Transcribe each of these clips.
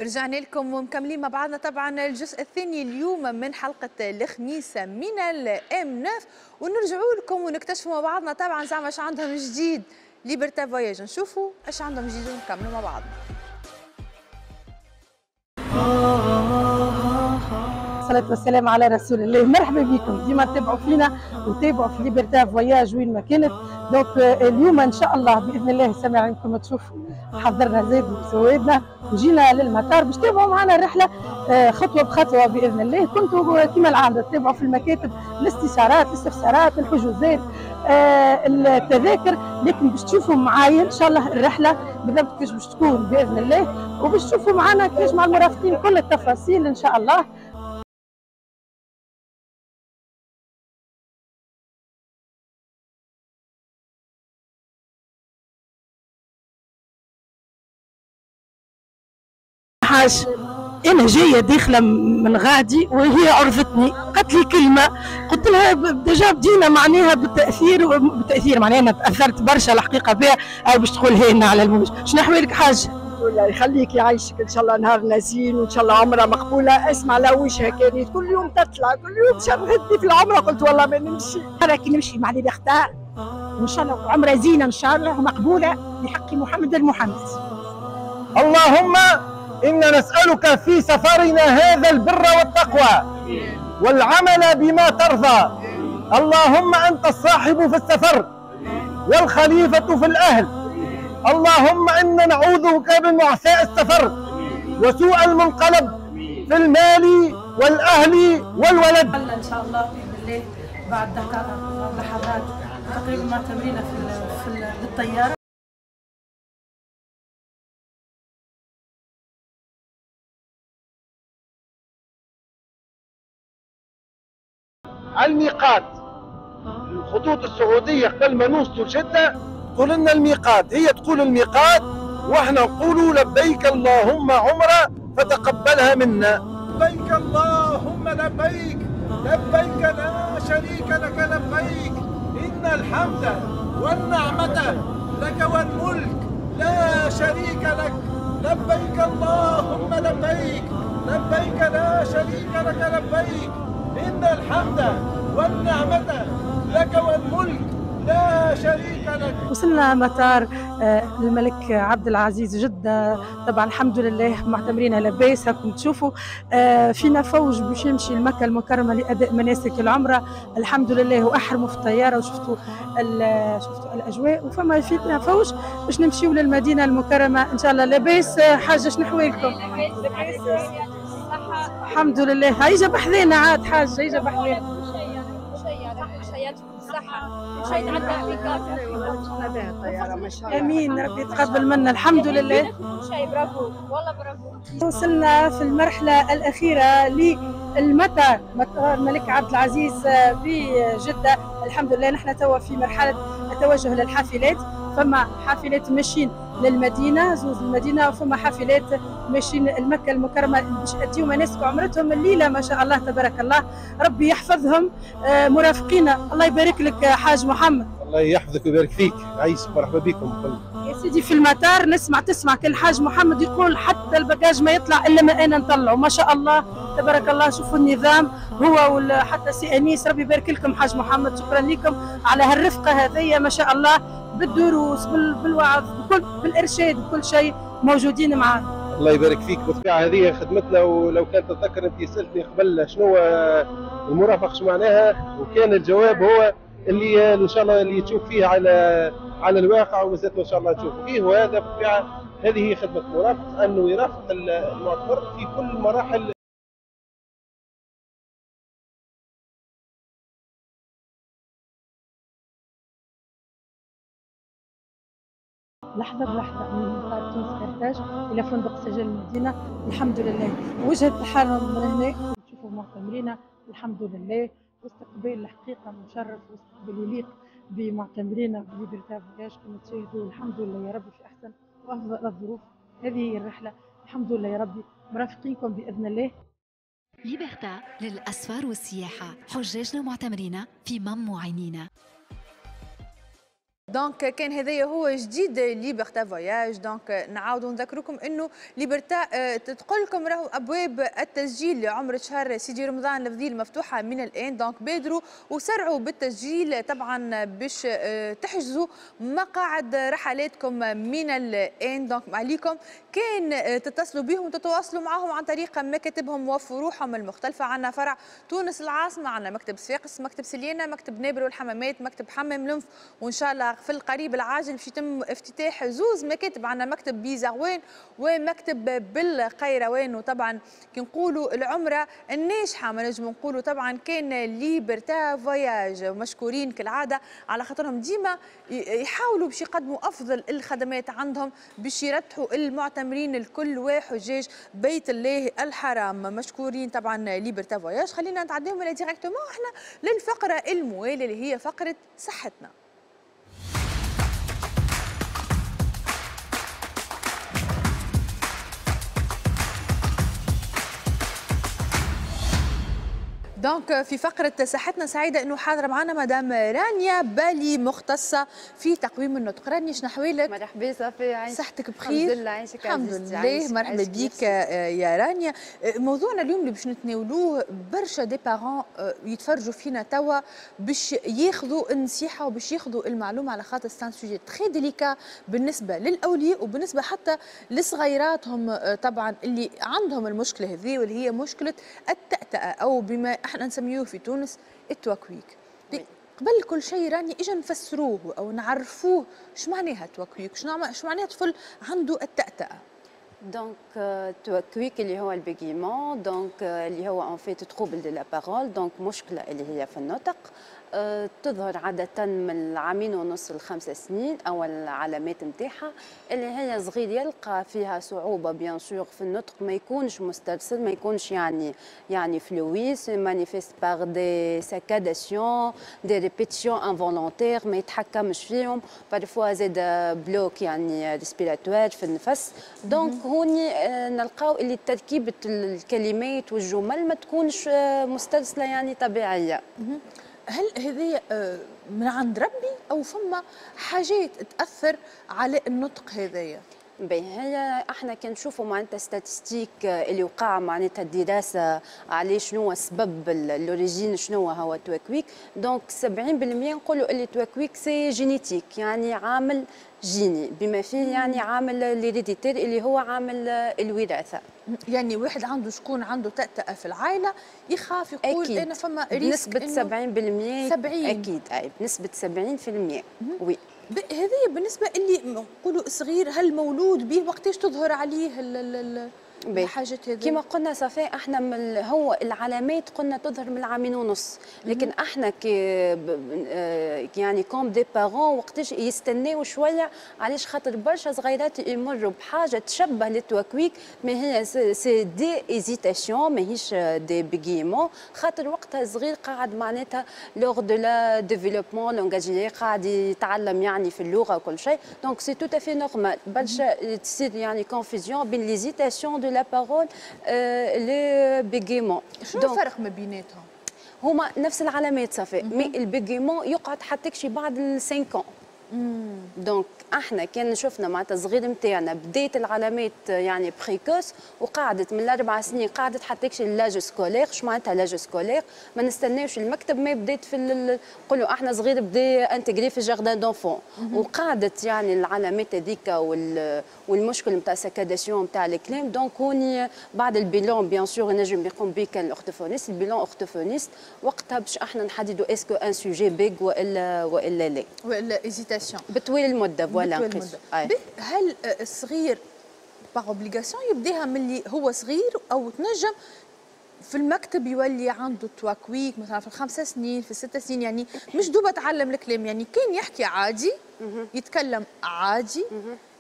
رجعنا لكم ومكملين مع بعضنا طبعا الجزء الثاني اليوم من حلقة الخميس من ال M 9، ونرجعوا لكم ونكتشفوا مع بعضنا طبعا زعما اش عندهم جديد Liberta Voyages. نشوفوا اش عندهم جديد ونكملوا مع بعضنا. الصلاة والسلام على رسول الله. مرحبا بكم، ديما تتابعوا فينا وتابعوا في Liberta Voyages وين ما كانت. donc اليوم ان شاء الله باذن الله سامعينكم تشوفوا حضرنا زاد وسوادنا وجينا للمطار باش تتابعوا معنا الرحلة خطوة بخطوة باذن الله. كنتوا كما العادة تتابعوا في المكاتب الاستشارات، الاستفسارات، الحجوزات، التذاكر، لكن باش تشوفوا معايا ان شاء الله الرحلة بالضبط كيفاش باش تكون باذن الله، وباش تشوفوا معنا كيفاش مع المرافقين كل التفاصيل ان شاء الله. حاج انا جاية داخله من غادي وهي عرفتني، قالت لي كلمة قلت لها déjà بدينا معناها بالتاثير، بالتاثير معناها انا تاثرت برشا الحقيقة بها، باش تقولها لنا على المباشر. شنو احوالك حاج؟ الله يخليك يعيشك، ان شاء الله نهارنا زين وان شاء الله عمره مقبولة. اسمع لا وجهها كانت كل يوم تطلع، كل يوم شرفتني في العمرة، قلت والله ما نمشي. كي نمشي مع Liberta وان شاء الله عمره زينة ان شاء الله ومقبوله بحق محمد المحمد. اللهم إنا نسألك في سفرنا هذا البر والتقوى والعمل بما ترضى. اللهم أنت الصاحب في السفر والخليفة في الأهل. اللهم إنا نعوذ بك من وعثاء السفر وسوء المنقلب في المال والأهل والولد. إن شاء الله بإذن الله بعد دقائق لحظات تقريبا مع تمرينة في الطيارة. الميقات الخطوط السعودية قبل ما نوصلوا لجدة تقول لنا الميقات، هي تقول الميقات واحنا نقولوا لبيك اللهم عمرة فتقبلها منا. لبيك اللهم لبيك، لبيك لا شريك لك لبيك، إن الحمد والنعمة لك والملك لا شريك لك، لبيك اللهم لبيك، لبيك لا شريك لك لبيك، إن الحمد والنعمة لك والملك لا شريك لك. وصلنا مطار الملك عبد العزيز جدة، طبعا الحمد لله معتمرين لاباس، هاكم تشوفوا فينا فوج باش يمشي لمكة المكرمة لأداء مناسك العمرة، الحمد لله وأحرموا في الطيارة وشفتوا شفتوا الأجواء، وفما فينا فوج باش نمشيو للمدينة المكرمة إن شاء الله. لاباس حاجة، شنو حوالكم؟ الحمد لله. هاي جا بحذانا عاد حاجة، هاي جا بحذانا. امين، ربي يتقبل منا الحمد لله. برافو والله برافو. وصلنا في المرحلة الأخيرة للمطار، مطار الملك عبد العزيز بجدة، الحمد لله. نحن توا في مرحلة التوجه للحافلات، فما حافلات ماشيين للمدينة زوز المدينة، وفما حافلات ماشيين لمكة المكرمة باش يأديو مناسك عمرتهم الليلة ما شاء الله تبارك الله، ربي يحفظهم مرافقينا. الله يبارك لك حاج محمد. الله يحفظك ويبارك فيك، عايش، مرحبا بكم. يا سيدي في المطار نسمع تسمع كل حاج محمد يقول حتى ال bagage ما يطلع الا ما انا نطلعه، ما شاء الله تبارك الله. شوفوا النظام هو حتى سي انيس، ربي يبارك لكم حاج محمد، شكرا لكم على هالرفقه هذيا ما شاء الله، بالدروس بالوعظ بالارشاد بكل شيء موجودين معنا. الله يبارك فيك. بالطبيعة هذه خدمتنا، ولو كان تتذكر انت سالتني قبل شنو المرافق شو معناها، وكان الجواب هو اللي ان شاء الله اللي تشوف فيه على الواقع ومازالت ان شاء الله تشوف فيه. وهذا بالطبيعة هذه هي خدمة المرافق، انه يرافق المعتمر في كل مراحل. لحظة بلحظة من مطار تونس قرطاج إلى فندق سجل المدينة، الحمد لله. وجهة الحرم من هنا تشوفوا معتمرينا الحمد لله، واستقبال الحقيقة مشرف واستقبال يليق بمعتمرينا ب Liberta Voyages كما تشاهدوا، الحمد لله يا ربي في أحسن وأفضل الظروف. هذه هي الرحلة الحمد لله يا ربي، مرافقينكم بإذن الله. Liberta للأسفار والسياحة، حجاجنا ومعتمرينا في مم وعينينا. donc كان هذايا هو جديد Liberta Voyages. donc نعاودوا نذكركم انه Liberta تقول لكم راهو ابواب التسجيل لعمره شهر سيدي رمضان الفضيل مفتوحة من الان. donc بادروا وسرعوا بالتسجيل طبعا باش تحجزوا مقاعد رحلاتكم من الان. donc عليكم كان تتصلوا بهم وتتواصلوا معهم عن طريق مكاتبهم وفروعهم المختلفة. عندنا فرع تونس العاصمة، عندنا مكتب صفاقس، مكتب سليانه، مكتب نابل والحمامات، مكتب حمام لنف، وان شاء الله في القريب العاجل باش يتم افتتاح زوز مكاتب، عندنا مكتب بزغوان ومكتب بالقيروان. وطبعا كي نقولوا العمرة الناجحة ما نجم نقولوا طبعا كان Liberta Voyages، مشكورين كالعادة على خاطرهم ديما يحاولوا باش يقدموا افضل الخدمات عندهم باش يرتحوا المعتمرين الكل وحجاج بيت الله الحرام. مشكورين طبعا Liberta Voyages. خلينا نتعداو من directement احنا للفقرة الموالية اللي هي فقره صحتنا. donc في فقرة صحتنا سعيدة أنه حاضرة معنا مدام رانيا بالي، مختصة في تقويم النطق. رانيا شنو أحوالك؟ مرحبا صافي، عايشك صحتك بخير؟ الحمد لله، عايشك الحمد لله. مرحبا بك يا رانيا. موضوعنا اليوم اللي باش نتناولوه برشا des parents يتفرجوا فينا توا باش ياخذوا النصيحة وباش ياخذوا المعلومة، على خاطر c'est un sujet très délicat بالنسبة للأولياء وبالنسبة حتى لصغيراتهم طبعا اللي عندهم المشكلة هذه، واللي هي مشكلة التأتأة أو بما احنا نسميوه في تونس التوكويك. قبل كل شيء راني اجا نفسروه او نعرفوه شو معناها التوكويك، شو معناها طفل عنده التأتأة. donc التوكويك اللي هو ال bégaiement، donc اللي هو en fait trouble de la parole، donc مشكلة اللي هي في النطق، تظهر عادة من 2.5 ل5 سنين. أول العلامات نتاعها اللي هي صغير يلقى فيها صعوبة bien sûr في النطق، ما يكونش مسترسل، ما يكونش يعني fluide، se manifeste par des saccadations، des répétitions involontaires، ما يتحكمش فيهم، parfois زاد bloc يعني respiratoire في النفس. donc هوني نلقاو اللي تركيبة الكلمات والجمل ما تكونش مسترسلة يعني طبيعية. هل هذه من عند ربي او فما حاجات تاثر على النطق هذايا؟ باهي، هي احنا كي نشوفوا معناتها statistiques اللي وقع معناتها الدراسة عليه شنو سبب l'origine شنو هو التوكويك، donc 70% نقولوا اللي التوكويك c'est génétique، يعني عامل جيني بما فيه يعني عامل l'héréditaire اللي هو عامل الوراثة. يعني واحد عنده شكون عنده تأتأة في العائلة يخاف يقول أكيد. انا فما risque بنسبة 70% 70 اكيد، اي بنسبة 70% oui. هذه بالنسبة اللي نقولوا صغير، هل مولود به وقتاش تظهر عليه الحاجات هذه؟ كما قلنا صافي احنا من هو العلامات قلنا تظهر من 2.5 عام، لكن احنا كي يعني comme des parents وقتاش يستناو شوية، علاش؟ خاطر برشا صغيرات يمروا بحاجة تشبه للتوكويك، mais هي c'est des hésitations ماهيش des bégaiements، خاطر وقتها صغير قاعد معناتها lors de la développement langagier قاعد يتعلم يعني في اللغة وكل شيء، donc c'est tout à fait normal برشا تصير يعني confusion بين l'hésitation de la parole les bégaiements. شنو الفرق ما بيناتهم؟ هما نفس العلامات صافي، mais ال bégaiement يقعد حتى شي بعد 5 ans. donc احنا كان شفنا معناتها الصغير نتاعنا بدات العلامات يعني précoces وقعدت من 4 سنين قعدت حتى l'âge scolaire. شو معناتها l'âge scolaire؟ ما نستناوش المكتب، ما بدات في نقولوا احنا صغير بدا intégré في jardin d'enfants وقعدت يعني العلامات هذيك والمشكل نتاع saccadation نتاع الكلام. donc هوني بعد ال bilan bien sûr نجم يقوم به كان ال orthophoniste، ال bilan orthophoniste وقتها باش احنا نحددوا est-ce que un sujet bègue والا لا والا hésitation بطويل المدة. voilà. هل الصغير par obligation يبداها من اللي هو صغير او تنجم في المكتب يولي عنده تواكويك مثلا في 5 سنين في 6 سنين؟ يعني مش دوبه تعلم الكلام، يعني كان يحكي عادي يتكلم عادي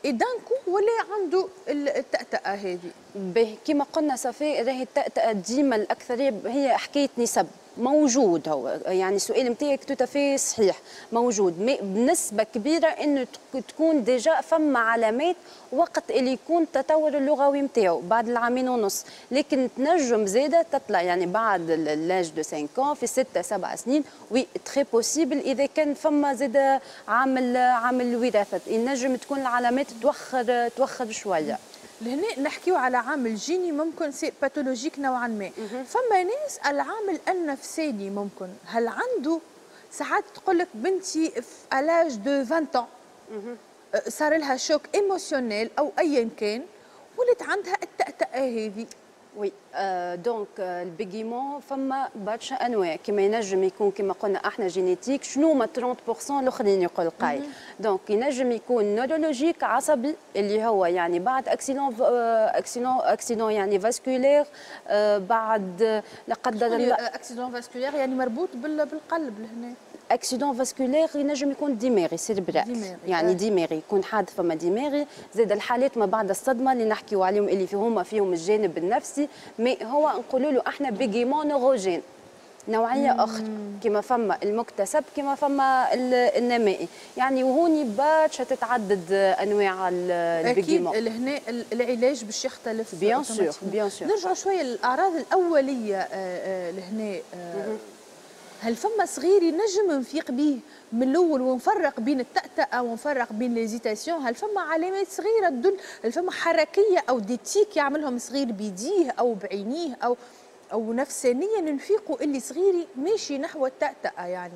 et d'un coup ولا عنده التأتأة هذه. به كما قلنا صافي راهي التأتأة ديما الأكثرية هي حكاية نسب. موجود هو، يعني السؤال نتاعك tout à fait صحيح، موجود mais بنسبة كبيرة انه تكون déjà فما علامات وقت اللي يكون التطور اللغوي نتاعو بعد العامين ونص، لكن تنجم زاده تطلع يعني بعد l'âge de 5، في 6 7 سنين، oui très possible. اذا كان فما زاده عامل الوراثه، ينجم تكون العلامات توخر شويه. لهنا نحكيو على عامل جيني، ممكن c'est pathologique نوعا ما. فما ناس العامل النفساني ممكن، هل عنده ساعات تقول لك بنتي في l'âge de 20 ans صار لها choc émotionnel او ايا كان، ولات عندها التأتأة هذه؟ oui، donc ال bégaiement فما برشا انواع، كما ينجم يكون كما قلنا احنا génétique، شنو ما 30% الاخرين يقول قايل. donc ينجم يكون neurologique، عصبي، اللي هو يعني بعد accident يعني vasculaire، بعد لا قدر الله. accident vasculaire يعني مربوط بالقلب لهنا؟ accident vasculaire ينجم يكون دماغي، cérébral يعني دماغي، يكون حادث فما دماغي. زاد الحالات ما بعد الصدمة اللي نحكيو عليهم، اللي فيهم الجانب النفسي، mais هو نقولوا له احنا bégaiement neurogène، نوعية اخرى، كما فما المكتسب كما فما النمائي، يعني وهوني برشا تتعدد انواع ال bégaiement. اكيد لهنا العلاج باش يختلف. bien sûr، bien sûr. نرجع شوية للاعراض الاولية لهنا، هل فما صغير ينجم نفيق به من الاول ونفرق بين التأتأة ونفرق بين les hésitations؟ هل فما علامات صغيرة تدل؟ هل فما حركية او des tics يعملهم صغير بيديه او بعينيه او نفسانيا نفيقوا اللي صغيري ماشي نحو التأتأة يعني؟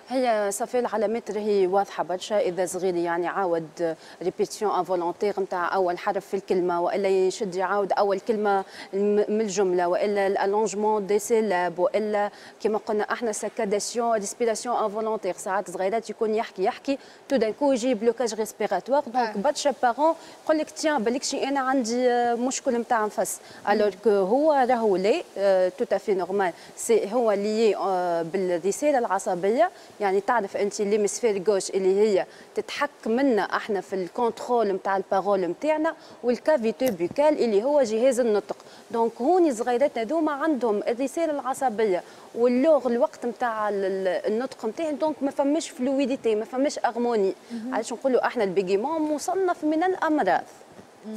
هي ça fait العلامات راهي واضحة برشا. اذا صغيري يعني عاود répétition involontaire نتاع اول حرف في الكلمه، والا يشد يعاود اول كلمة من الجمله، والا ال allongement des syllabes، والا كما قلنا احنا saccadation، respiration involontaire. ساعات صغيرات يكون يحكي يحكي، tout d'un coup يجي blocage respiratoire. donc برشا parents يقول لك tiens، بالك شي انا عندي مشكل نتاع نفس، alors que هو راهو لا، tout à fait normal. c'est هو lié بالرسالة العصبيه، يعني تعرف انت l'hémisphère gauche اللي هي تتحكم لنا احنا في ال contrôle نتاع ال parole نتاعنا، وال cavité buccale اللي هو جهاز النطق. donc هوني صغيراتنا هذوما عندهم الرسالة العصبية واللغ الوقت نتاع النطق نتاعهم، donc ما فماش fluidité، ما فماش harmonie. علاش نقولوا احنا ال bégaiement مصنف من الامراض،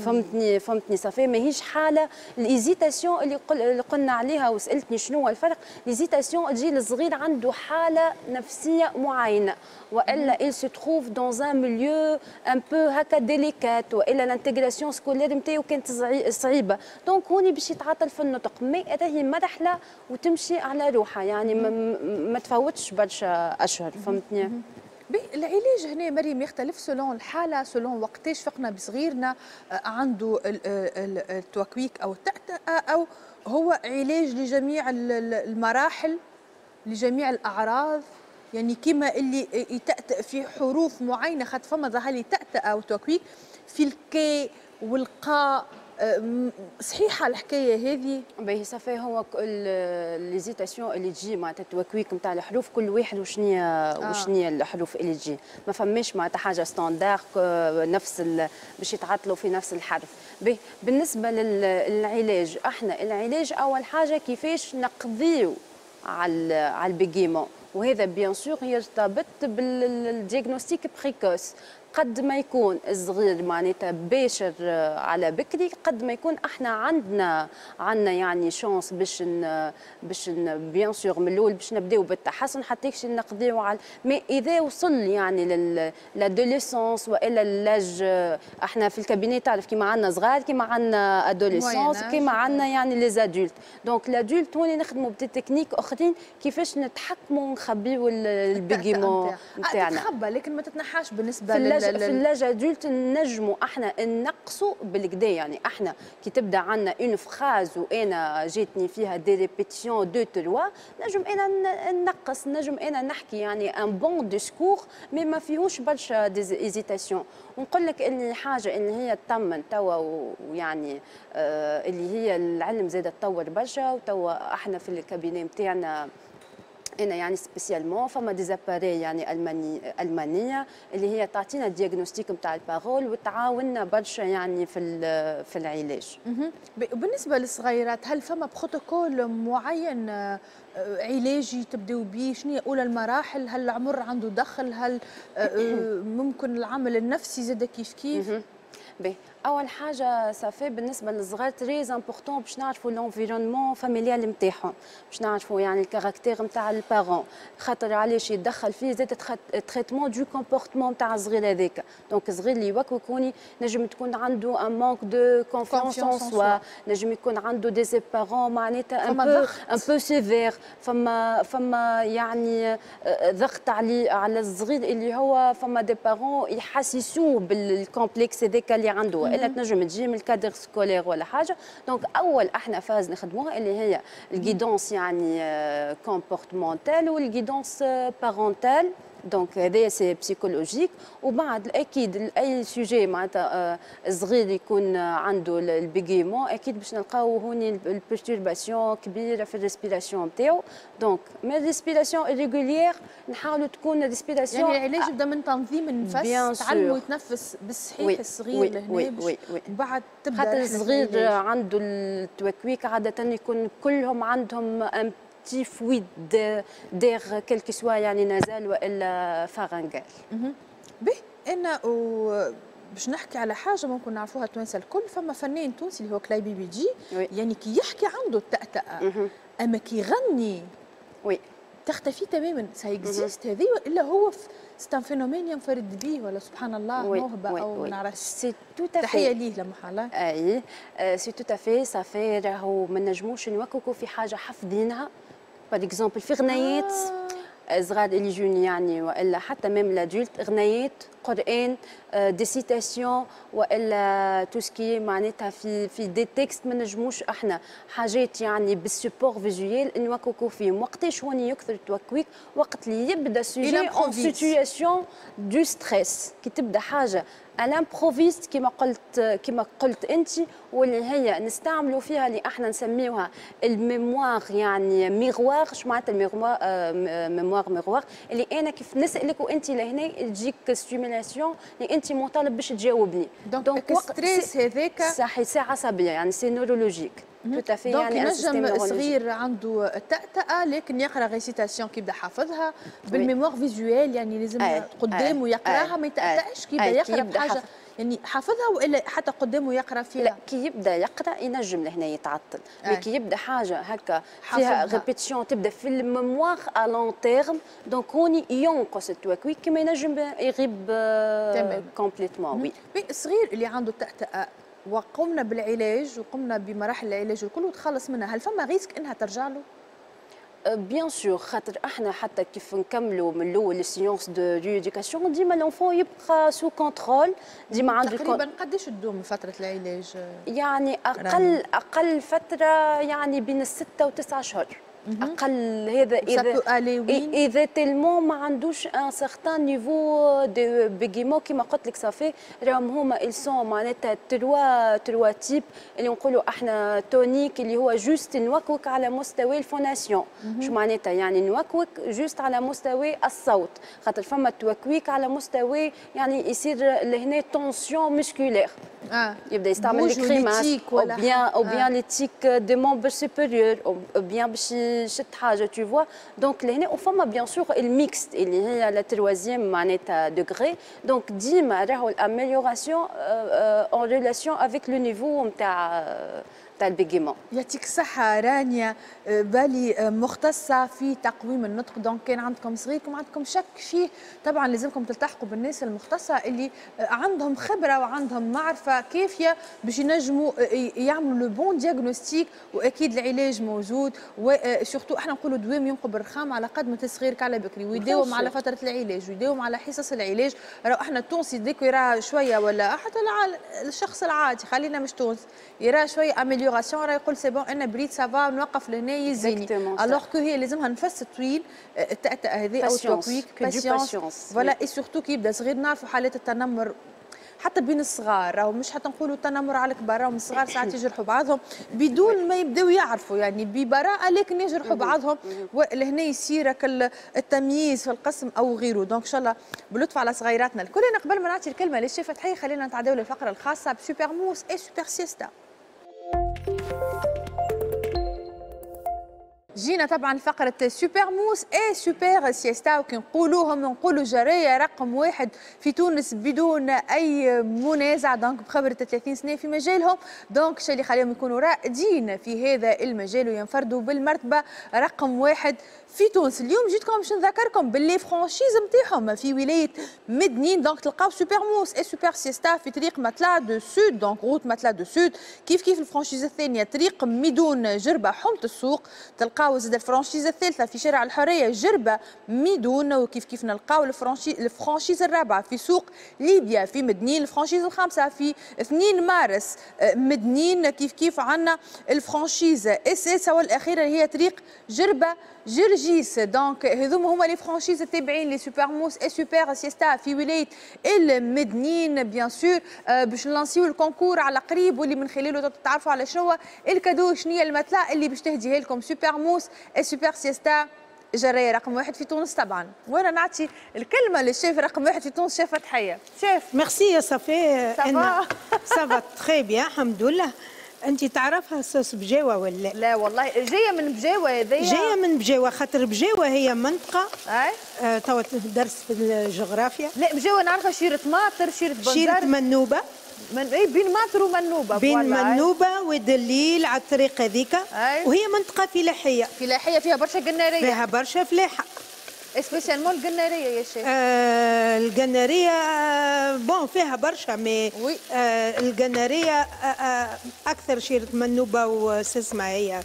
فهمتني؟ ça fait ماهيش حاله l'hésitation اللي قلنا عليها وسالتني شنو هو الفرق. l'hésitation تجي الصغير عنده حاله نفسية معينه، والا il se trouve dans un milieu un peu هكا délicat، والا l'intégration scolaire نتاعو كانت صعيبه، donc هوني باش يتعطل في النطق. mais راهي مرحلة وتمشي على روحها، يعني ما تفوتش برشا اشهر، فهمتني؟ العلاج هنا مريم يختلف selon الحاله، selon وقتاش فقنا بصغيرنا عنده التوكويك او التأتأة، او هو علاج لجميع المراحل، لجميع الاعراض؟ يعني كما اللي يتأتأ في حروف معينه، خاطر فما ظهر لي تأتأة او توكويك في الكي والقاء، صحيحه الحكاية هذه؟ باهي، ça fait هو l'hésitation اللي تجي معناتها التوكويك نتاع الحروف، كل واحد وشنيا وشنيا الحروف اللي تجي، ما فماش معناتها حاجة standard نفس باش يتعطلوا في نفس الحرف. باهي، بالنسبة للعلاج، احنا العلاج اول حاجة كيفاش نقضيو على ال bégaiement، وهذا bien sûr يرتبط بال diagnostic précoce. قد ما يكون الصغير معناتها باشر على بكري، قد ما يكون احنا عندنا يعني chance باش bien sûr من الاول باش نبداو بالتحسن حتى كش نقضيو على. mais اذا وصل يعني l'adolescence والا l'âge، احنا في ال cabinet تعرف كيما عندنا صغار، كيما عندنا adolescence، كيما عندنا يعني les adultes. donc l'adulte هوني نخدموا ب des techniques اخرين كيفاش نتحكموا ونخبيو ال bégaiement نتاعنا. تتخبى لكن ما تتنحاش بالنسبة في l'âge adulte نجموا احنا نقصوا بالكدا. يعني احنا كي تبدا عندنا une phrase وانا جاتني فيها des répétitions deux trois، نجم انا نقص، نجم انا نحكي يعني un bon discours mais ما فيهوش برشا des hésitations. ونقول لك ان حاجة ان هي تطمن توا، ويعني اللي هي العلم زاد تطور برشا، وتوا احنا في ال cabinet نتاعنا انا يعني spécialement فما des appareils يعني المانية اللي هي تعطينا diagnostic نتاع ال parole وتعاوننا برشا يعني في العلاج. بالنسبة للصغيرات، هل فما بروتوكول معين علاجي تبداو به؟ شنو هي اولى المراحل؟ هل العمر عنده دخل؟ هل ممكن العمل النفسي زاد كيف كيف؟ باهي، اول حاجة ça fait بالنسبة للصغار très important باش نعرفوا l'environnement familial نتاعهم، باش نعرفوا يعني ال caractère نتاع ال parents، خاطر علاش يتدخل فيه زاد traitement du comportement نتاع الصغير هذاك. donc الصغير اللي يوكوكوني نجم تكون عنده un manque de confiance en soi، نجم يكون عنده des parents معناتها un peu sévères، فما يعني ضغط عليه على الصغير، اللي هو فما des parents يحسسوه بال complexe هذاك اللي عنده، الا تنجم تجي من ال cadre scolaire ولا حاجه. donc اول احنا phase نخدموها اللي هي ال guidance يعني comportementale وال guidance parentale، donc هذايا c'est psychologique. وبعد اكيد اي sujet معناتها صغير يكون عنده ال bégaiement، اكيد باش نلقاو هوني ال perturbation كبيرة في ال respiration نتاعو. donc من ال respiration irrégulière نحاولوا تكون respiration يعني العلاج يبدا من تنظيم النفس، تعلموا يتنفس بالصحيح الصغير لهنا. oui. وبعد تبدا خاطر الصغير عنده التوكويك عادة يكون كلهم عندهم un petit fuite d'air، quel que soit يعني nasal والا pharyngal. به، انا باش نحكي على حاجة ممكن نعرفوها التوانسة الكل، فما فنان تونسي اللي هو كلاي بي بي جي، يعني كي يحكي عنده التأتأة، اما كي يغني تختفي تماما. ça existe هذه والا هو c'est un phénomène ينفرد به ولا سبحان الله موهبة او ما نعرفش؟ c'est tout à fait. تحية ليه لمحاله. اي، c'est tout à fait ça fait. راهو ما نجموش نوكوكو في حاجة حافظينها، par exemple في غنايات صغار اللي يجوني يعني والا حتى même l'adulte، غنايات، قران، des citations والا tout ce qui معناتها في des textes، ما نجموش احنا حاجات يعني بال support visuel نوكوكو فيهم. وقتاش هوني يكثر التوكويك؟ وقت اللي يبدا sujet en situation de stress، كي تبدا حاجة à l'improviste كما قلت انت، واللي هي نستعملوا فيها اللي احنا نسميوها ال mémoire يعني miroir. اش معناتها ال mémoire mémoire miroir؟ اللي انا كيف نسالك وانت لهنا تجيك stimulation اللي انت مطالب باش تجاوبني. donc stress هذاك. صحيح، c'est عصبيه، يعني c'est neurologique tout à fait. يعني نجم صغير عنده تأتأة لكن يقرا récitation كي يبدا حافظها بال mémoire visuelle، يعني لازم قدامه يقراها، ما يتأتأش كي يبدا يقرا بحاجة يعني حافظها والا حتى قدامه يقرا فيها؟ لا، كي يبدا يقرا ينجم لهنا يتعطل، mais كي يبدا حاجة هكا فيها répétition تبدا في ال mémoire à long terme، donc هوني ينقص التوكويك كما ينجم يغيب complètement، oui. الصغير اللي عنده تأتأة وقمنا بالعلاج وقمنا بمراحل العلاج الكل وتخلص منها، هل فما risque انها ترجع له؟ bien sûr، خاطر احنا حتى كيف نكملوا من الاول les séances de rééducation ديما l'enfant يبقى sous contrôle، ديما عنده تقريبا قداش تدوم فترة العلاج؟ يعني اقل فترة يعني بين ال6 و9 اشهر اقل، هذا اذا tellement ما عندوش un certain niveau de bégaiement. كيما قلت لك ça fait راهم هما ils sont معناتها trois types، اللي نقولوا احنا tonique اللي هو juste نوكوك على مستوى ال phonation. شو معناتها؟ يعني نوكوك juste على مستوى الصوت، خاطر فما توكويك على مستوى يعني يصير لهنا tension musculaire، يبدا يستعمل les grimaces ou bien les tics des membres supérieurs ou bien باش يشد حاجه، tu vois. donc لهنا وفما bien sûr ال mixte اللي هي la troisième معناتها degré. donc ديما راهو ال amélioration en relation avec le niveau نتاع ال bégaiement. يعطيك الصحة رانيا بالي، مختصة في تقويم النطق. donc كان عندكم صغيركم عندكم شك فيه، طبعا لازمكم تلتحقوا بالناس المختصة اللي عندهم خبرة وعندهم معرفة كافية باش ينجموا يعملوا le bon diagnostic، واكيد العلاج موجود. و surtout احنا نقولوا دوام ينقب الرخام، على قد ما صغيرك على بكري ويداوم على فترة العلاج ويداوم على حصص العلاج. راهو احنا التونسي dès que يرى شوية ولا حتى الشخص العادي، خلينا مش تونس، يرى شوية amélioration راه يقول c'est bon انا بريت، ça va، نوقف لهنا يزيني، alors que هي لازمها نفس طويل التأتأة هذه او التوكويك، patience voilà. et surtout كي يبدا صغير، نعرفوا حالات التنمر حتى بين الصغار، راهو مش حتى نقولوا التنمر على الكبار، راهم الصغار ساعات يجرحوا بعضهم بدون ما يبداو يعرفوا، يعني ببراءه لكن يجرحوا بعضهم، ولهنا يصير التمييز في القسم او غيره. donc ان شاء الله بلطف على صغيراتنا الكل. انا قبل ما نعطي الكلمة للشيف فتحيه خلينا نتعداو للفقرة الخاصة ب Super Mousse et Super Siesta. جينا طبعا فقرة Super Mousse et Super Siesta، وكي نقولوهم نقولوا جراية رقم واحد في تونس بدون أي منازع، donc بخبرة 30 سنة في مجالهم، donc الشيء اللي خليهم يكونوا رائدين في هذا المجال وينفردوا بالمرتبة رقم واحد في تونس. اليوم جيتكم باش نذكركم ب les franchises نتاعهم في ولاية مدنين، donc تلقاو Super Mousse et Super Siesta في طريق Matelas du Sud، donc route Matelas du Sud. كيف كيف ال franchise الثانية طريق ميدون جربة حومة السوق، تلقاو زاد ال franchise الثالثة في شارع الحرية جربة ميدون، وكيف كيف نلقاو ال franchise الرابعة في سوق ليبيا في مدنين، ال franchise الخامسة في 2 مارس مدنين، كيف كيف عندنا ال franchise السادسة والأخيرة هي طريق جربة جرجيس. donc هذوما هما les franchises التابعين ل Super Mousse et Super Siesta في ولاية المدنين. bien sûr باش نلانسيو ال concours على قريب، واللي من خلاله تتعرفوا على شنو ال cadeau، شنو هي ال matelas اللي باش تهديها لكم Super Mousse et Super Siesta جرايه رقم واحد في تونس طبعا. وانا نعطي الكلمة للشيف رقم واحد في تونس، شيف فتحيه. شيف ميرسي يا صفي، ça va très bien الحمد لله. انت تعرفها صوص بجاوه ولا لا؟ والله جاية من بجاوه هذيا، جاية من بجاوه، خاطر بجاوه هي منطقة توا درس في الجغرافيا. لا بجاوه نعرفها شيره ماطر، شيره بنزرت، شيره منوبه، من اي بين ماطر ومنوبه، بين منوبه ودليل على الطريق هذيك، وهي منطقة فلاحية، فلاحية فيها برشا قناريه، فيها برشا فلاحة، spécialement القناريه يا شيخ. القناريه bon فيها برشا mais القناريه اكثر شيره منوبه وسسمه هي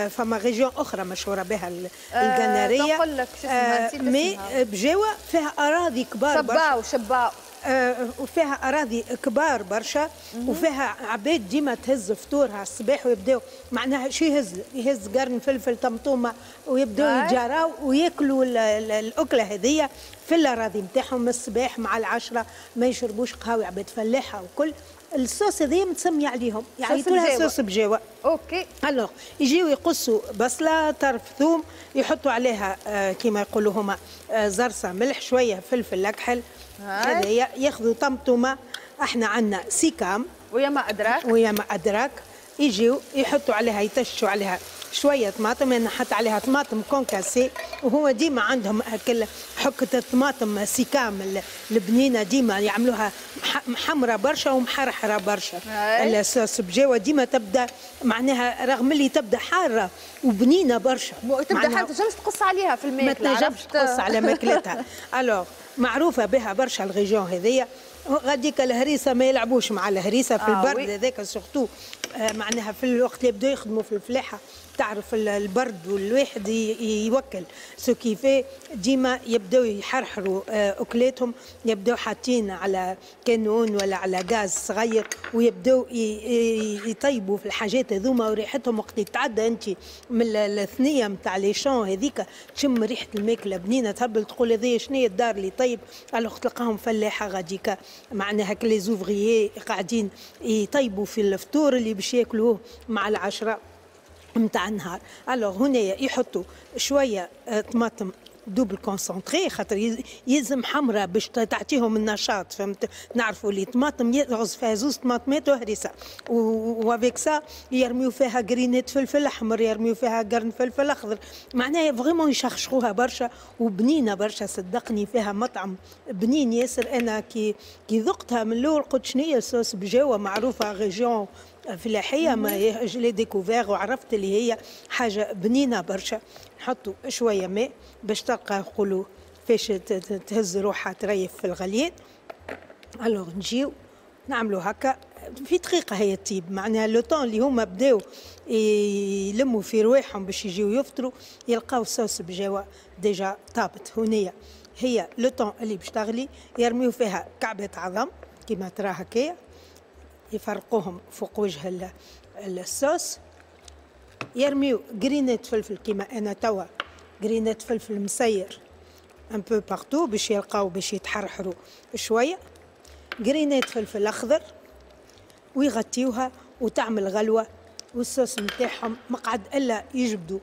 فما région اخرى مشهورة بها القناريه. نقول لك شو اسمها mais بجاوه فيها اراضي كبار برشا، شباو شباو، وفيها اراضي كبار برشا، وفيها عباد ديما تهز فطورها الصباح ويبداو معناها شو يهز قرن فلفل طمطومه ويبداو يتجاراو وياكلوا الاكلة هذيا في الاراضي نتاعهم الصباح مع العشرة، ما يشربوش قهوة، عباد فلاحة وكل. الصوص هذيا متسميه عليهم، يعيطوا لها صوص بجاوه. OK. alors يجيو يقصوا بصله، طرف ثوم، يحطوا عليها كيما يقولوا هما زرصه ملح، شوية فلفل اكحل، هذايا ياخذوا طمطومه، احنا عندنا سيكام ويا ما ادراك، ويا ما ادراك، يجيو يحطوا عليها، يتشوا عليها شوية طماطم، انا حط عليها طماطم concassée، وهو ديما عندهم هكا حكه الطماطم سيكام البنينه ديما يعملوها محمرة برشا ومحرحره برشا. الصوص بجاوه ديما تبدا معناها رغم اللي تبدا حارة وبنينه برشا، تبدا حارة تنجمش تقص عليها في الماكلة، ما تنجمش تقص على ماكلتها. alors معروفة بها برشا ال région هذيا. غاديك الهريسه ما يلعبوش مع الهريسه في البرد هذاك surtout، معناها في الوقت اللي يبداو يخدموا في الفلاحة، تعرف البرد والواحد يوكل ce qui fait، ديما يبداو يحرحروا اكلاتهم، يبداو حاطين على كانون ولا على غاز صغير ويبداو يطيبوا في الحاجات هذوما، وريحتهم وقت يتعدى انت من الثنية نتاع les champs هذيك تشم ريحه الماكلة بنينه تهبل، تقول هذه شنو هي الدار اللي طيب. alors تلقاهم فلاحة غاديكا معناها les ouvriers قاعدين يطيبوا في الفطور اللي باش ياكلوه مع العشرة نتاع النهار. alors هنا يحطوا شوية طماطم double concentrée، خاطر يلزم حمراء باش تعطيهم النشاط، فهمت؟ نعرفوا اللي طماطم يغز فيها زوز طماطمات وهريسه، و avec ça يرميو فيها قرينات فلفل احمر، يرميو فيها قرن فلفل اخضر، معناها vraiment يشخشخوها برشا وبنينه برشا، صدقني فيها مطعم بنين ياسر. انا كي ذقتها من الاول قلت شنو هي صوص بجاوه معروفة région فلاحية، mais je l'ai découvert وعرفت اللي هي حاجة بنينه برشا. نحطوا شوية ماء باش تلقى نقولوا فاش تهز روحها تريف في الغليان. alors نجيو نعملوا هكا في دقيقة هي تطيب، معناها le temps اللي هما بداو يلموا في رواحهم باش يجيو يفطروا يلقاو الصوص بجاوه déjà طابت. هنايا هي le temps اللي باش تغلي يرميو فيها كعبه عظم كيما ترى هكايا، يفرقوهم فوق وجه الصوص، يرميو قرينات فلفل كيما انا توا قرينات فلفل مسير un peu partout باش يلقاو باش يتحرحروا شوية. قرينات فلفل اخضر ويغطيوها وتعمل غلوه، والصوص نتاعهم مقعد الا يجبدوا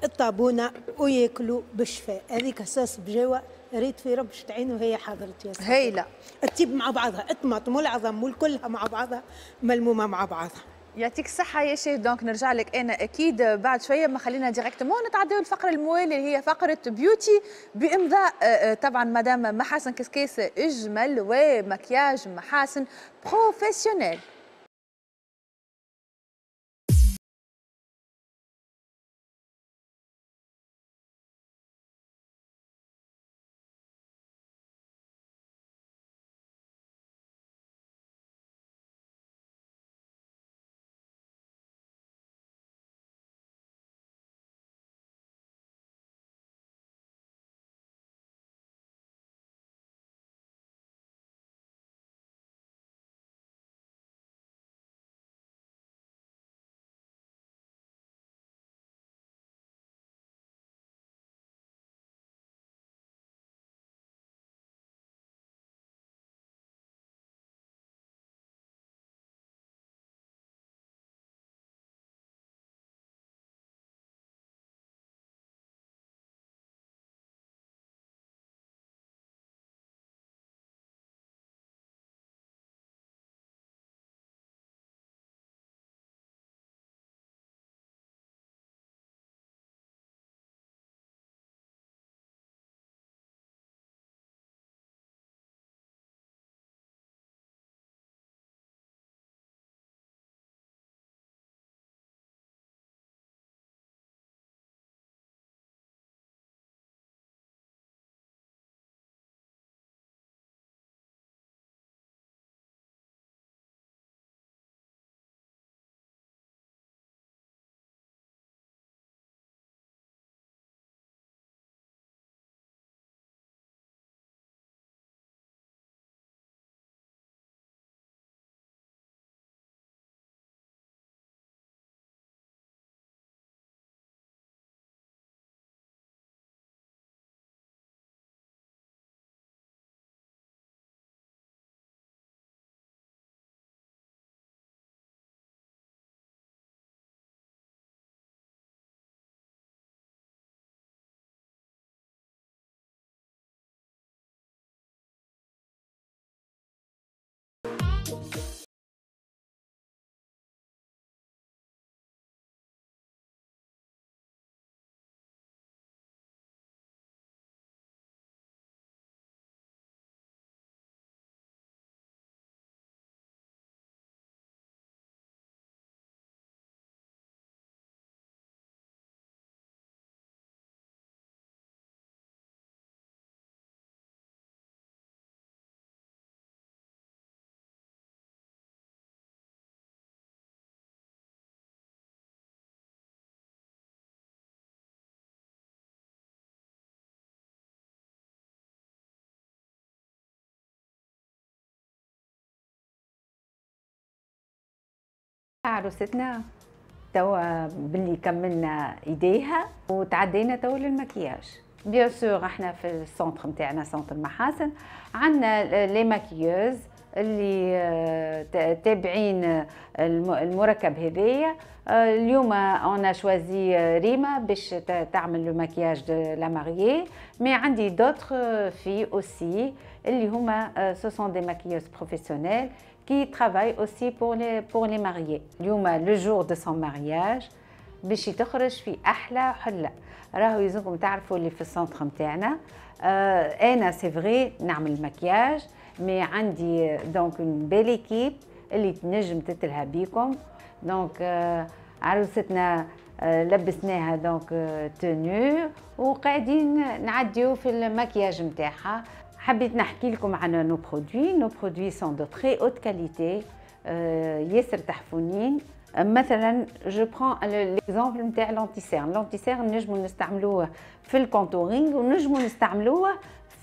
الطابونه وياكلوا بالشفاء. هذيك صوص بجاوه ريت في ربشة عين وهي حضرت يا سيدي. هايلة الطيب مع بعضها، الطماطم والعظم والكلها مع بعضها ملمومه مع بعضها. يعطيك الصحة يا chef. donc نرجع لك أنا أكيد بعد شوية، ما خلينا directement نتعداو الفقرة الموالية اللي هي فقرة beauty بإمضاء طبعا مدام محاسن كسكيس إجمل ومكياج محاسن professionnel. عروستنا توا باللي كملنا ايديها وتعدينا توا للمكياج. bien sûr احنا في ال centre نتاعنا centre محاسن عندنا les maquilleuses اللي تابعين المركب هذايا. اليوم on a choisi ريما باش تعمل le maquillage de la mariée، mais عندي d'autres filles aussi اللي هما ce sont des maquilleuses professionnelles qui travaillent aussi pour les mariés. اليوم le jour de son mariage باش تخرج في احلى حله. راهو يلزمكم تعرفوا اللي في ال centre نتاعنا انا c'est vrai نعمل maquillage، mais عندي donc une belle équipe اللي تنجم تتلها بيكم. donc عروستنا لبسناها donc tenue وقاعدين نعديو في المكياج نتاعها. حبيت نحكي لكم عن nos produits. nos produits sont de très haute qualité، ياسر تحفونين. مثلا je prends l'exemple نتاع l'anti-cernes. l'anti-cernes نجمو نستعملوه في ال contouring ونجمو نستعملوه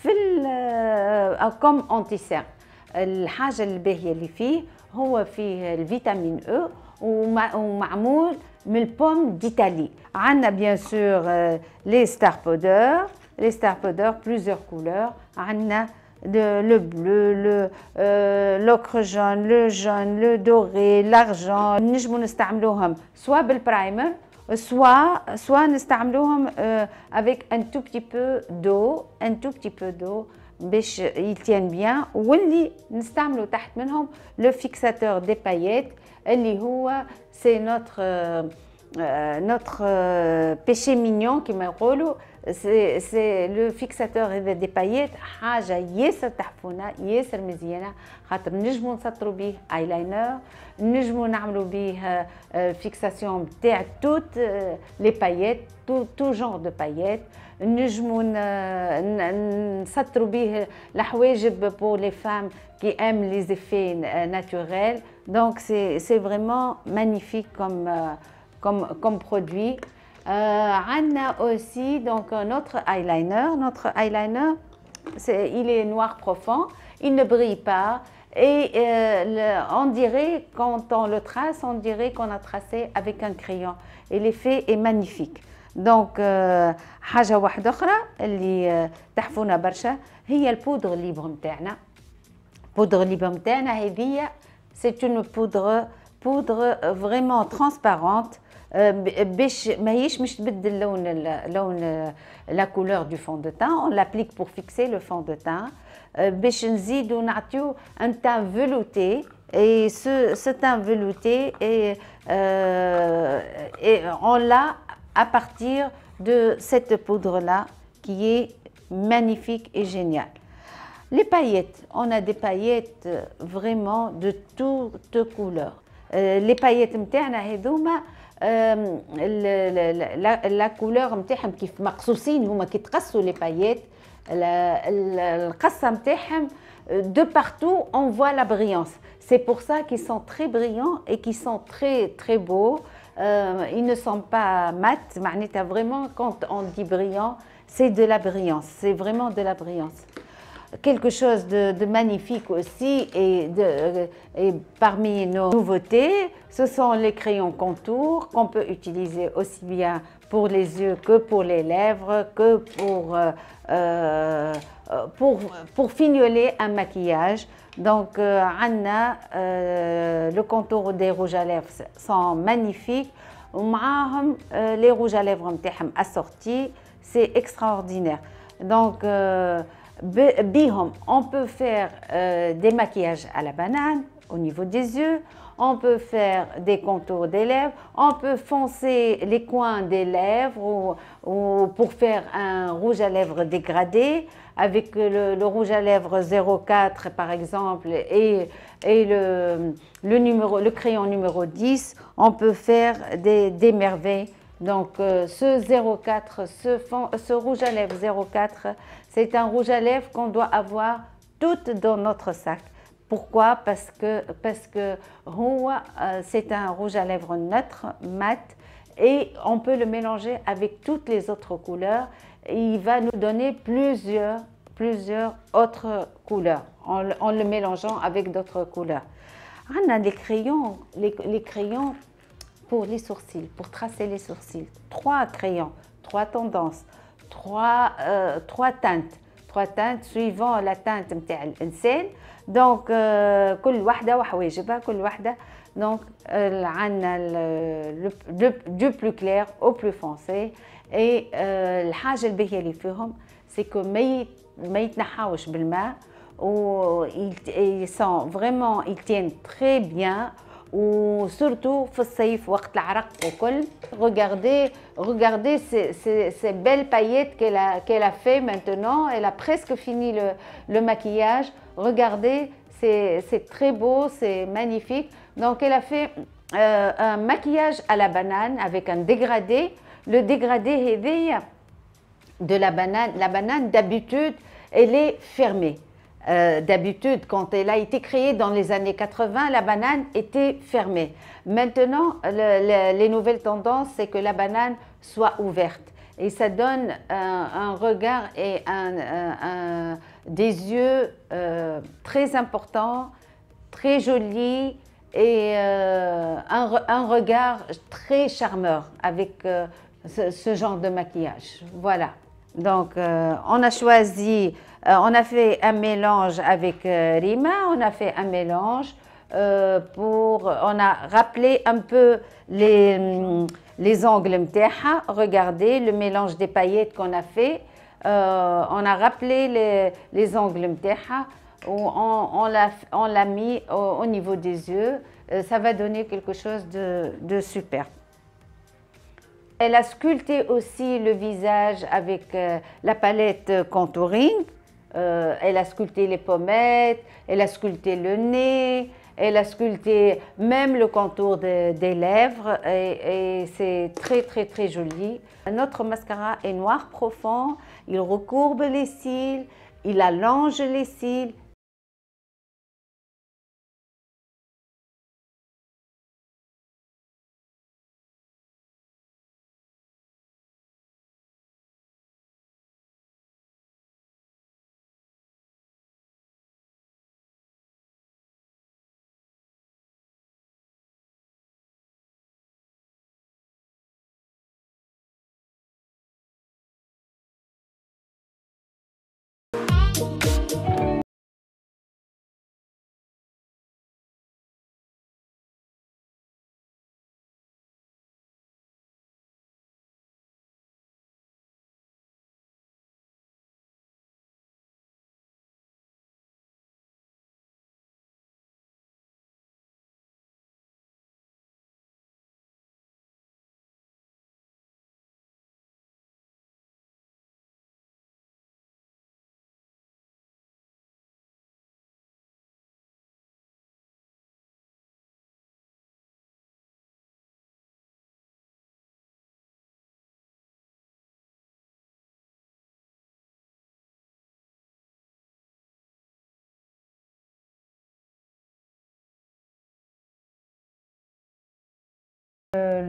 في comme anti-cernes. الحاجة الباهيه اللي فيه هو فيه ال vitamine E ومعمول من ال pomme d'Italie. عندنا bien sûr les star powder، les star powder plusieurs couleurs. عندنا Le bleu, l'ocre jaune, le jaune, le doré, l'argent. نجمو نستعملوهم soit بال primer, soit نستعملوهم avec un tout petit peu d'eau, un tout petit peu d'eau باش ils tiennent bien. واللي نستعملوا تحت منهم le fixateur des paillettes اللي هو c'est notre péché mignon كما يقولوا. C'est le fixateur هذا des paillettes, حاجه ياسر تحفونه, ياسر مزيانه, خاطر نجمو نسطروا به ايلاينر, نجمو نعملوا به fixation تاع toutes les paillettes, tout genre de paillettes. نجمو نسطروا به الحواجب pour les femmes qui aiment les effets naturels. Donc c'est vraiment magnifique comme produit. عندنا aussi donc notre eyeliner. Notre eyeliner, il est noir profond, il ne brille pas et on dirait, quand on le trace, on dirait qu'on a tracé avec un crayon et l'effet est magnifique. Donc حاجة واحدة أخرى اللي تحفونا برشا هي ال poudre libre نتاعنا. Poudre libre نتاعنا هذه, c'est une poudre vraiment transparente باش ماهيش مش تبدل لون la couleur du fond de teint. On l'applique pour fixer le fond de teint باش نزيدو نعطيو un teint velouté et ce teint velouté et on l'a à partir de cette poudre là qui est magnifique et géniale. Les paillettes, on a des paillettes vraiment de toutes couleurs. Les paillettes نتاعنا هذوما, la couleur نتاعهم كيف مقصوصين هما, كي تقصوا les paillettes, القصه نتاعهم, de partout on voit la brillance. C'est pour ça qu'ils sont très brillants et qu'ils sont très très beaux. Ils ne sont pas mat, معناتها vraiment, quand on dit brillant, c'est de la brillance, c'est vraiment de la brillance. Quelque chose de magnifique aussi et parmi nos nouveautés, ce sont les crayons contour qu'on peut utiliser aussi bien pour les yeux que pour les lèvres, que pour fignoler un maquillage. Donc, عندنا le contour des rouges à lèvres sont magnifiques. ومعاهم les rouges à lèvres نتاعهم assortis, c'est extraordinaire. Donc, بيهم on peut faire des maquillages à la banane au niveau des yeux, on peut faire des contours des lèvres, on peut foncer les coins des lèvres ou pour faire un rouge à lèvres dégradé avec le rouge à lèvres 04 par exemple et le crayon numéro 10, on peut faire des merveilles. Donc ce 04, ce rouge à lèvres 04, c'est un rouge à lèvres qu'on doit avoir toutes dans notre sac. Pourquoi? Parce que هو c'est un rouge à lèvres neutre, mat, et on peut le mélanger avec toutes les autres couleurs. Et il va nous donner plusieurs autres couleurs en le mélangeant avec d'autres couleurs. On a les crayons pour les sourcils, pour tracer les sourcils. Trois crayons, trois tendances, trois teintes. Trois teintes suivant la teinte نتاع الإنسان. Donc كل واحدة وحواجبها, كل واحدة. Donc عندنا du plus clair au plus foncé et الحاجة الباهية اللي فيهم, c'est que ما يتنحاوش بالماء و ils sont vraiment, ils tiennent très bien و surtout في الصيف وقت العرق وكل. Regardez, regardez ces belles paillettes qu'elle a fait. Maintenant, elle a presque fini le maquillage. Regardez, c'est très beau, c'est magnifique. Donc elle a fait un maquillage à la banane avec un dégradé. Le dégradé هذايا de la banane, la banane, d'habitude, elle est fermée. D'habitude, quand elle a été créée dans les années 80, la banane était fermée. Maintenant, les nouvelles tendances, c'est que la banane soit ouverte. Et ça donne un regard et des yeux très importants, très jolis et un regard très charmeur avec ce genre de maquillage. Voilà. Donc, on a choisi, on a fait un mélange avec Rima, on a fait un mélange on a rappelé un peu les angles متاعها. Regardez le mélange des paillettes qu'on a fait. On a rappelé les angles متاعها. On l'a mis au niveau des yeux. Ça va donner quelque chose de super. Elle a sculpté aussi le visage avec la palette contouring. Elle a sculpté les pommettes, elle a sculpté le nez, elle a sculpté même le contour des lèvres et c'est très très très joli. Notre mascara est noir profond, il recourbe les cils, il allonge les cils.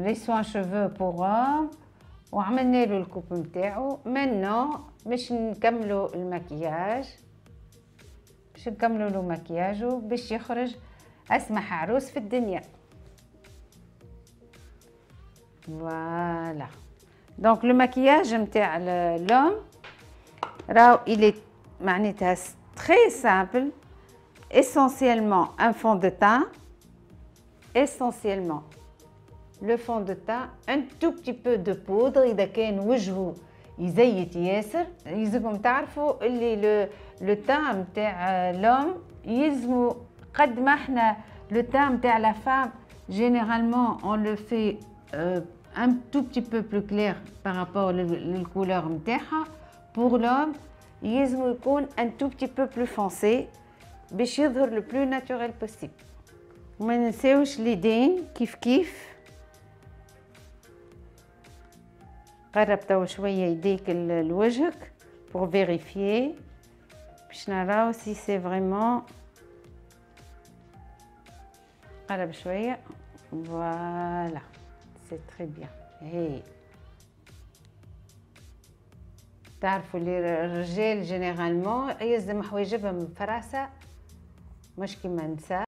Les soins cheveux pour homme وعملنا له ال coupe نتاعو. Maintenant باش نكملوا المكياج، باش نكملوا له مكياجو باش يخرج اسمح عروس في الدنيا. Voilà. Donc le maquillage نتاع l'homme راهو il est معناتها très simple, essentiellement un fond de teint, essentiellement le fond de teint, un tout petit peu de poudre. إذا كان وجهه يزيت ياسر يلزمكم تعرفوا اللي le teint نتاع l'homme يلزمو قد ما احنا le teint نتاع la femme généralement on le fait un tout petit peu plus clair par rapport لل couleur نتاعها. Pour l'homme يلزمو يكون un tout petit peu plus foncé باش يظهر le plus naturel possible. وما ننساوش اليدين كيف كيف. قرب توا شوية يديك لوجهك pour vérifier باش نراو si c'est vraiment. قرب شوية. Voilà, c'est très bien. هي تعرفوا اللي الرجال généralement يلزم حوايجهم فراسة مش كيما النساء.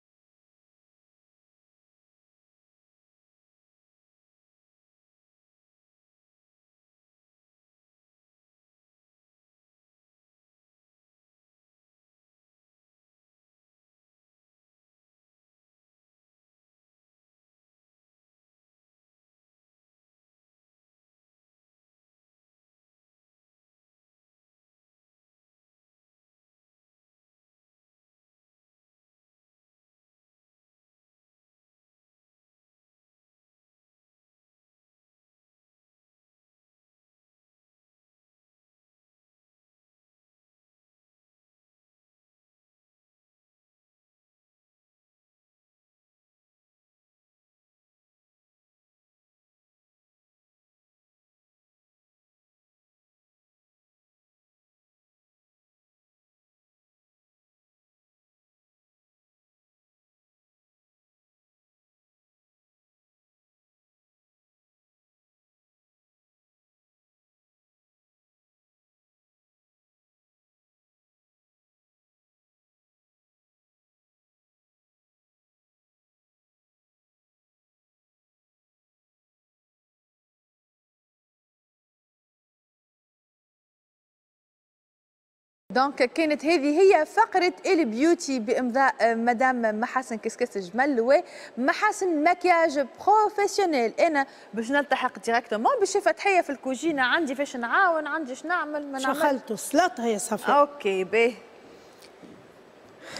donc كانت هذه هي فقرة ال beauty بإمضاء مدام محاسن كسكس جمل ومحاسن maquillage professionnel. أنا باش نلتحق directement باش فتحية في الكوجينة، عندي فاش نعاون، عندي اش نعمل ما نعمل. شخلتوا السلطة يا صفاء. OK باهي.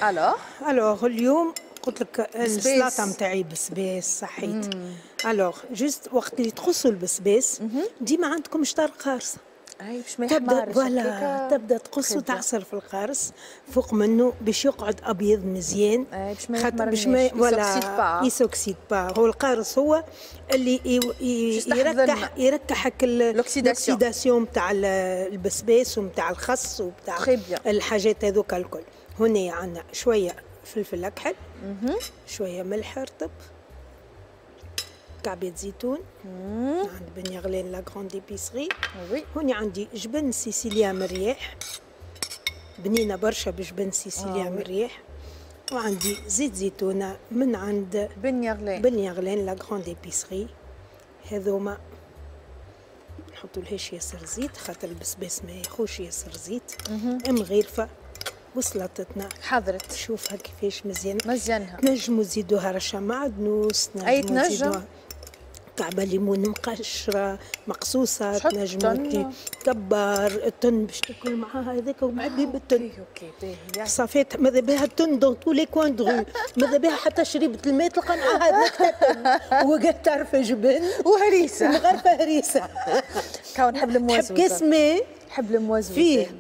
alors alors اليوم قلت لك السلطة نتاعي بسباس صحيت. alors juste وقت اللي تقصوا البسباس ديما عندكم شطر قارصه. اي باش ما يحمرش. voilà تبدا تقص وتعصر في القارص فوق منه باش يقعد ابيض مزيان. اي باش ما يحمرش، باش ما voilà il s'oxyde pas. هو القارص هو اللي يركحك l'oxydation نتاع البسباس ونتاع الخس وبتاع الحاجات هذوك الكل. هنا عندنا شوية فلفل اكحل، شوية ملح رطب، كعبة زيتون عند بن يغلان la grande épicerie. هوني عندي جبن سيسيليا مرياح، بنينه برشا بجبن سيسيليا مرياح. وعندي زيت زيتونه من عند بن يغلان، بن يغلان la grande épicerie. هذوما نحطوا لهاش ياسر زيت خاطر البسباس ما ياخوش ياسر زيت. مغيرفه وسلطتنا حضرت، شوفها كيفاش مزيانه مزيانها. تنجموا تزيدوها رشه معدنوس، تنجموا تزيدوها كعبه ليمون مقشره مقصوصة، تنجموا تكبر التن باش تاكل معاها هذاك ومعبي بالتن. OK باهي صافي ماذا بها التن dans tous les coins de rue، ماذا بها حتى شريبه الماء تلقى معاها هذاك التن وقعدت تعرف جبن وهريسه مغرفه هريسه. كون نحب الموزوزه، نحب كاس ماء، نحب الموزوزه فيه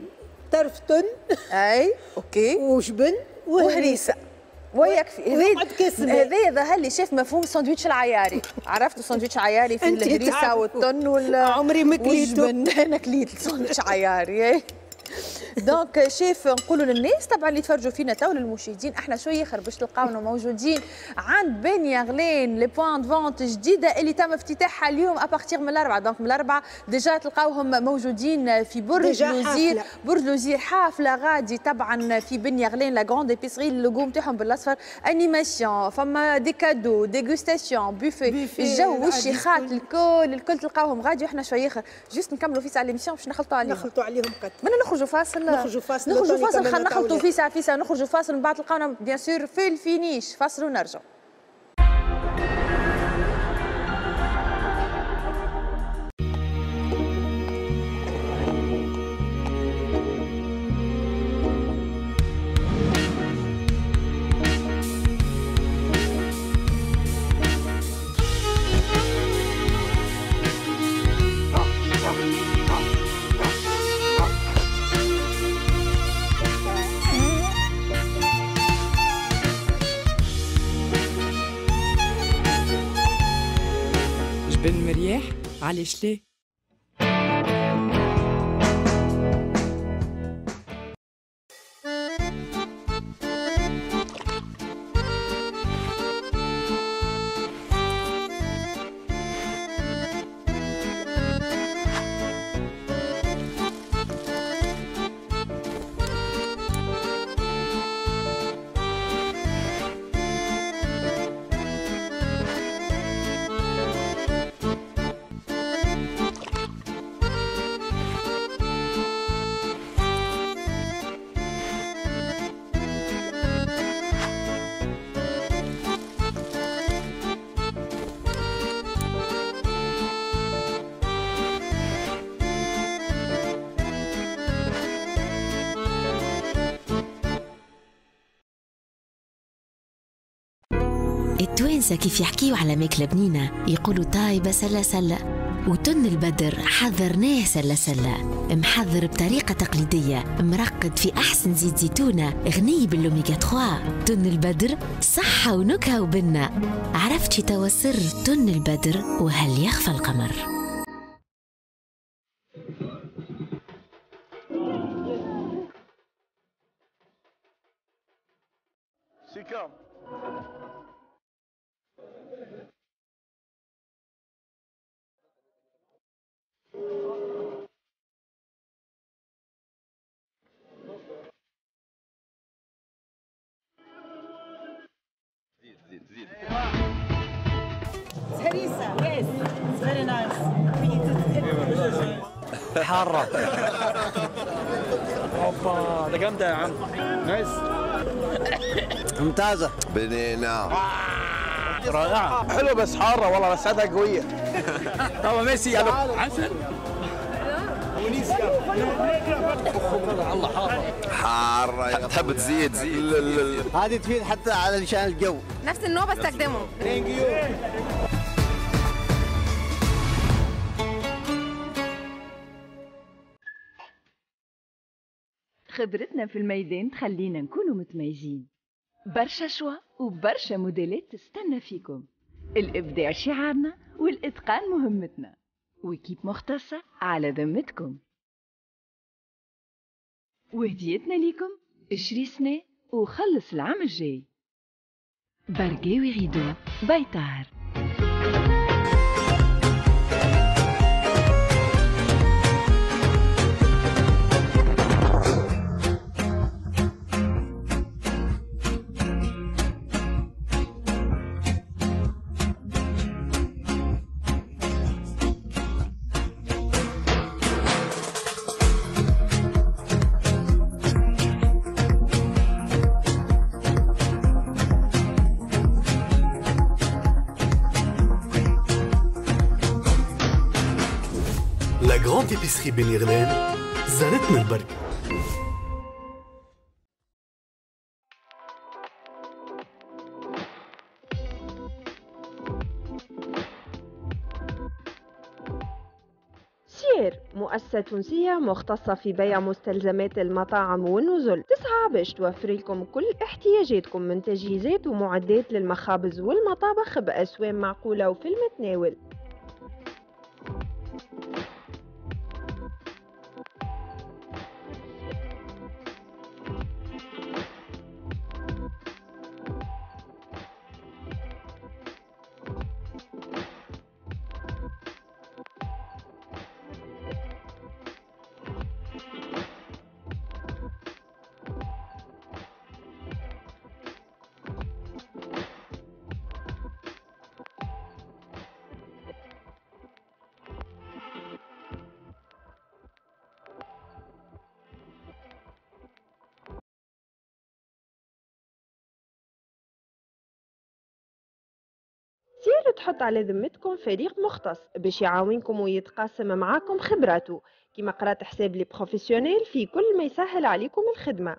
طرف تن اي OK وجبن وهريسه ويكفي. هذا ظهر لي شاف مفهوم الساندويتش العياري. عرفتوا الساندويتش العياري فيه الهريسه والتن وال عمري ما كليته. انا كليت الساندويتش عياري. donc chef نقولوا للناس طبعا اللي يتفرجوا فينا تو للمشاهدين، احنا شوية اخر باش تلقاونا موجودين عند بن يغلان les points de vente جديدة اللي تم افتتاحها اليوم à partir من الاربعة. donc من الاربعة déjà تلقاوهم موجودين في برج لوزير، برج لوزير حافلة غادي طبعا في بن يغلان la grande épicerie. ال logo نتاعهم بالاصفر، animation، فما des cadeaux، dégustation، buffet، الجو والشيخات الكل الكل تلقاوهم غادي. وحنا شوية اخر juste نكملوا في ساعة l'émission باش نخلطوا عليهم، نخلطوا عليهم قد نخرجوا فاصل، نخرجوا فاصل، نخرجوا فاصل، خلينا نخلطوا في ساعة في ساعة، نخرجوا فاصل من بعد تلقاونا bien sûr في ال finish. فاصل ونرجع. بن مرياح علاش ليه؟ التوانسة كيف يحكيوا على ماكلة بنينة يقولوا طايبة سلة سلة، وتن البدر حذرناه سلة سلة، محضر بطريقة تقليدية، مرقد في أحسن زيت زيتونة، غني بالأوميغا 3. تن البدر صحة ونكهة وبنة. عرفتي توا سر تن البدر وهل يخفى القمر؟ سيكام زيد زيد. Harissa. Yes, it's very nice. حارة. اوبا ده جامدة يا عم. nice. ممتازة. بنينه. رائعة. حلوة بس حارة والله، بس عادها قوية. طبعا ميسي عسل. الله حارة. حارة تحب تزيد زيد. هذه تفيد حتى على شان الجو. نفس النوع بستخدمه. thank you. خبرتنا في الميدان تخلينا نكونوا متميزين. برشا choix وبرشا موديلات تستنى فيكم. الإبداع شعارنا والإتقان مهمتنا، و équipe مختصة على ذمتكم. وهديتنا ليكم اشري سنة وخلص العام الجاي. برقاوي rideaux بيطار. La grande épicerie بن غلان زارتنا البركة. سير مؤسسة تونسية مختصة في بيع مستلزمات المطاعم والنزل، تسعى باش توفر لكم كل احتياجاتكم من تجهيزات ومعدات للمخابز والمطابخ بأسوام معقولة وفي المتناول. سير تحط على ذمتكم فريق مختص باش يعاونكم ويتقاسم معاكم خبراته، كما قرات حساب les professionnels في كل ما يسهل عليكم الخدمة.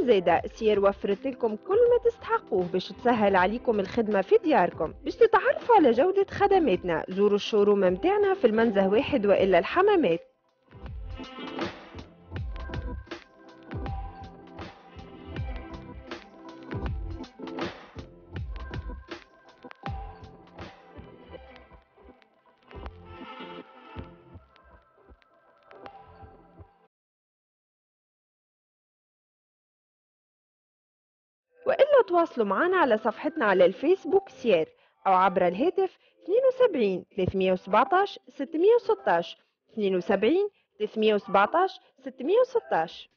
زادة سير وفرت لكم كل ما تستحقوه باش تسهل عليكم الخدمة في دياركم. باش تتعرفوا على جودة خدماتنا زوروا ال showroom متاعنا في المنزه 1 وإلا الحمامات. وإلا تواصلوا معنا على صفحتنا على الفيسبوك سير أو عبر الهاتف 72 317 616 72 317 616.